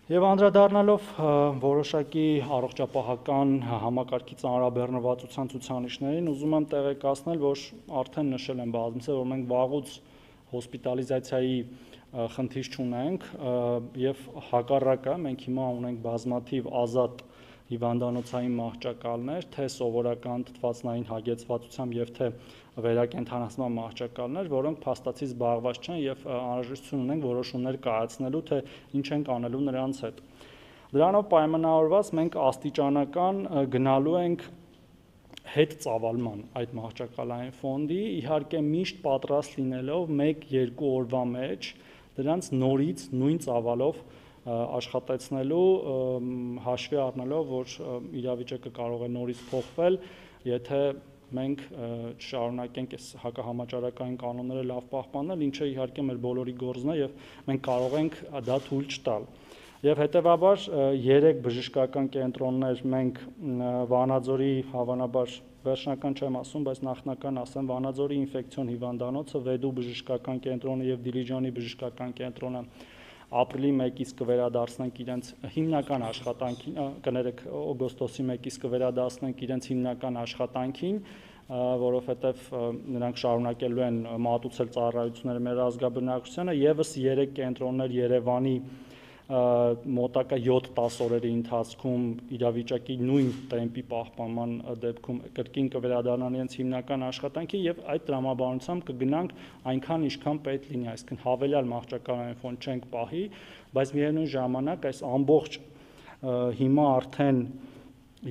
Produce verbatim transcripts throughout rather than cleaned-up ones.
Եվ անդրադառնալով որոշակի առողջապահական համակարգի ծանրաբեռնվածության ցուցանիշներին, ուզում եմ տեղեկացնել, որ արդեն նշել եմ բազմիցս, որ մենք վաղուց հոսպիտալիզացիայի խնդիր չունենք եւ հակառակը մենք հիմա ունենք բազմաթիվ ազատ հիվանդանոցային մահճակալներ, թե սովորական թթվածնային հագեցվածությամբ եւ թե վերակենդանացման մահճակալներ, որոնք փաստացի զբաղված չեն եւ անհրաժեշտություն ունենք որոշումներ կայացնելու, թե ինչ ենք անելու նրանց հետ։ Դրանով պայմանավորված մենք աստիճանական գնալու ենք հետ ծավալման այդ մահճակալային ֆոնդի, իհարկե միշտ պատրաստ լինելով մեկ-երկու օրվա մեջ դրանց նորից նույն ծավալով աշխատեցնելու, հաշվի առնելով, որ իրավիճակը կարող է նորից փոխվել, եթե մենք չշարունակենք այս հակահամաճարակային կանոնները լավ պահպանել, ինչը իհարկե մեր բոլորի գործն է եւ մենք կարող ենք դա թույլ չտալ։ Եվ հետեւաբար երեք բժշկական կենտրոններ մենք Վանաձորի, հավանաբար վերջնական չեմ ասում, բայց նախնական ասեմ, Վանաձորի ինֆեկցիոն հիվանդանոցը, Վեդու բժշկական կենտրոնը եւ Դիլիջանի բժշկական կենտրոնը ապրիլի մեկից կվերադարձնենք իրենց հիմնական աշխատանքին, կներեք օգոստոսի մեկից կվերադարձնենք իրենց հիմնական աշխատանքին, որովհետև նրանք շարունակելու են մատուցել ծառայությունները մեր ազգաբնակչությանը, եւս երեք կենտրոններ Երևանի մոտակա յոթ-տասը օրերի ընթացքում իրավիճակի նույն տեմպի պահպանման դեպքում կրկին կվերադառնան իրենց հիմնական աշխատանքի եւ այդ տրամաբանությամբ կգնանք այնքան ինչքան պետք լինի, այսինքն հավելյալ մահճակալային ֆոնդ չենք պահի, բայց միևնույն ժամանակ այս ամբողջ հիմա արդեն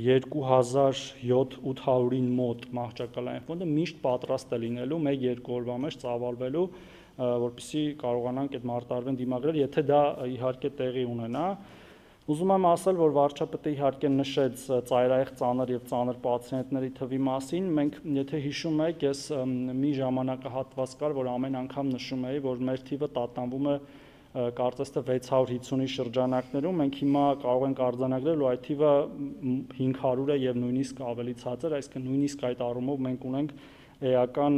երկու հազար յոթ-ութ հարյուրին մոտ մահճակալային ֆոնդը միշտ պատրաստ է լինելու մեկ-երկու օրվա մեջ ծավալվելու, որպեսզի կարողանանք այդ մարտահրավերին դիմագրել, եթե դա իհարկե տեղի ունենա։ Ուզում եմ ասել, որ վարչապետը իհարկե նշեց ծայրահեղ ծանր եւ ծանր պացիենտների թվի մասին, մենք եթե հիշում եք, ես մի ժամանակահատված կար, որ ամեն անգամ նշում էի, որ մեր թիվը տատանվում է կարծես թե վեց հարյուր հիսունի շրջանակներում, մենք հիմա կարող ենք արձանագրել, որ այդ թիվը հինգ հարյուր է եւ նույնիսկ ավելի ցածր, այսինքն նույնիսկ այդ առումով մենք ունենք էական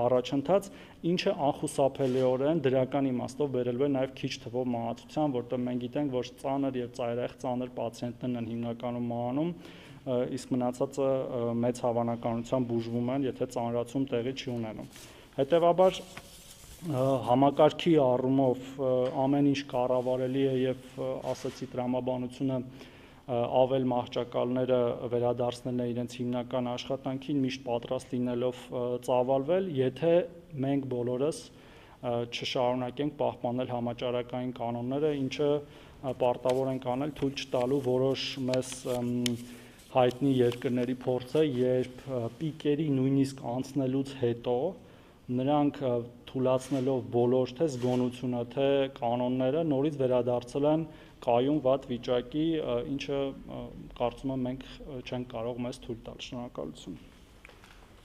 առաջընթաց, ինչը անխուսափելիորեն դրական իմաստով բերելու է նաև քիչ թվով մահացության, որտեղ մենք գիտենք, որ ծանր եւ ծայրահեղ ծանր պացիենտներն են հիմնականում մահանում, իսկ մնացածը մեծ հավանականությամբ բուժվում են, եթե ծանրացում տեղի չի ունենում։ Հետևաբար համակարգի առումով ամեն ինչ կառավարելի է եւ ասացի տրամաբանությունը ավել մահճակալները վերադարձնել է իրենց հիմնական աշխատանքին, միշտ պատրաստ լինելով ծավալվել, եթե մենք բոլորս չշարունակենք պահպանել համաճարակային կանոնները, ինչը պարտավոր ենք անել թույլ չտալու որոշ մեզ հայտնի երկրների փորձը, երբ պիկերի նույնիսկ անցնելուց հետո նրանք թուլացնելով բոլոր թե զգոնությունը, թե կանոնները նորից վերադարձել են կայուն վատ վիճակի, ինչը կարծում եմ մենք չենք կարող մեզ թույլ տալ։ Շնորհակալություն։